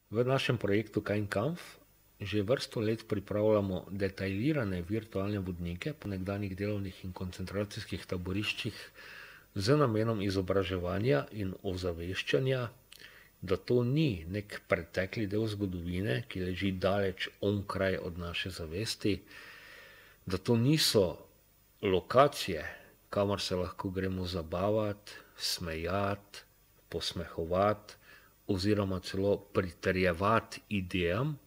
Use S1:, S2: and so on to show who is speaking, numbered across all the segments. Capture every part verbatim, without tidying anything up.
S1: V našem projektu Kein Kampf že vrsto let pripravljamo detaljirane virtualne vodnike po nekdanjih delovnih in koncentracijskih taboriščih z namenom izobraževanja in ozaveščanja, da to ni nek pretekli del zgodovine, ki leži daleč onkraj od naše zavesti, da to niso lokacije, kamor se lahko gremo zabavati, smejati, posmehovati oziroma celo pritrjevati idejam,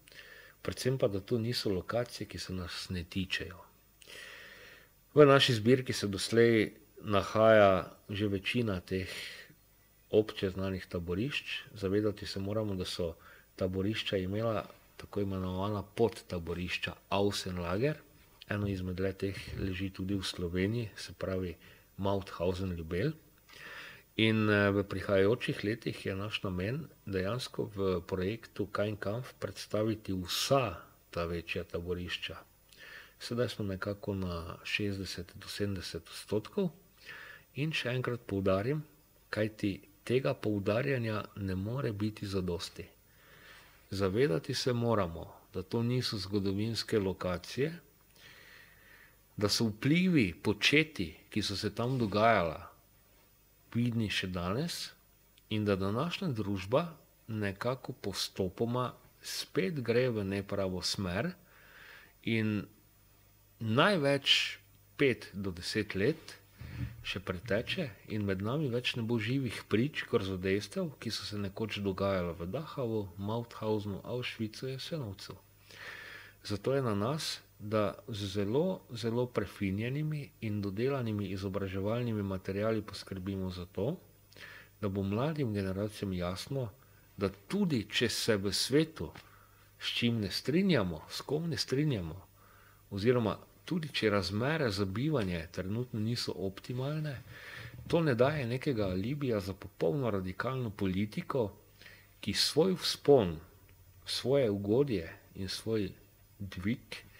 S1: predvsem pa, da to niso lokacije, ki se nas ne tičejo. V naši zbirki se doslej nahaja že večina teh obče znanih taborišč. Zavedati se moramo, da so taborišča imela tako imenovana podtaborišča Außenlager. Eno izmed le-teh leži tudi v Sloveniji, se pravi Mauthausen-Ljubelj. In v prihajajočih letih je naš namen dejansko v projektu Kein Kampf predstaviti vsa ta večja taborišča. Sedaj smo nekako na šestdeset do sedemdeset odstotkov in še enkrat poudarim, kajti tega poudarjanja ne more biti zadosti. Zavedati se moramo, da to niso zgodovinske lokacije, da so vplivi, početji, ki so se tam dogajala, vidni še danes in da današnja družba nekako postopoma spet gre v nepravo smer in največ pet do deset let še preteče in med nami več ne bo živih prič, grozodejstev, ki so se nekoč dogajala v Dachavu, Mauthausenu, Auschwitzu, Jasenovcu. Zato je na nas, da z zelo, zelo prefinjenimi in dodelanimi izobraževalnimi materiali poskrbimo za to, da bo mladim generacijam jasno, da tudi če se v svetu s čim ne strinjamo, s kom ne strinjamo, oziroma tudi če razmere za bivanje trenutno niso optimalne, to ne daje nekega alibija za popolno radikalno politiko, ki svoj vzpon, svoje ugodje in svoj dvig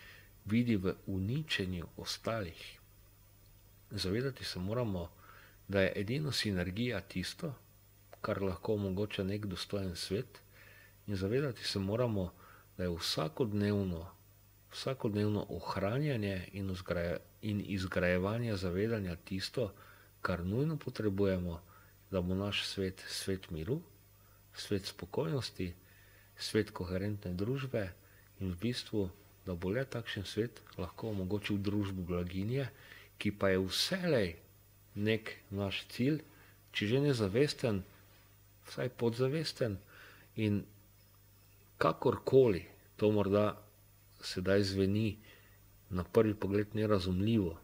S1: vidi v uničenju ostalih. Zavedati se moramo, da je edino sinergija tisto, kar lahko omogoča nek dostojen svet, in zavedati se moramo, da je vsakodnevno, vsakodnevno ohranjanje in, in izgrajevanje zavedanja tisto, kar nujno potrebujemo, da bo naš svet svet miru, svet spokojnosti, svet koherentne družbe in v bistvu da bo le takšen svet lahko omogočil družbo blaginje, ki pa je vselej nek naš cilj, če že ne zavesten, vsaj podzavesten in kakorkoli to morda sedaj zveni na prvi pogled nerazumljivo.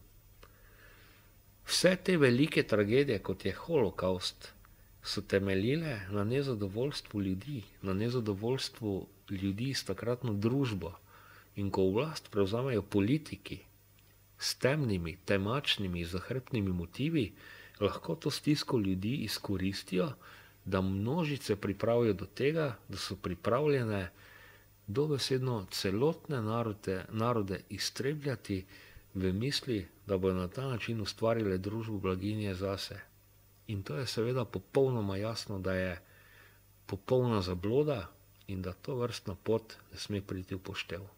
S1: Vse te velike tragedije, kot je holokavst, so temeljile na nezadovoljstvu ljudi, na nezadovoljstvu ljudi s takratno družbo. In ko oblast prevzamejo politiki s temnimi, temačnimi, zahrbtnimi motivi, lahko to stisko ljudi izkoristijo, da množice pripravijo do tega, da so pripravljene dobesedno celotne narode, narode iztrebljati v misli, da bodo na ta način ustvarile družbo blaginje zase. In to je seveda popolnoma jasno, da je popolna zabloda in da to vrstna pot ne sme priti v poštev.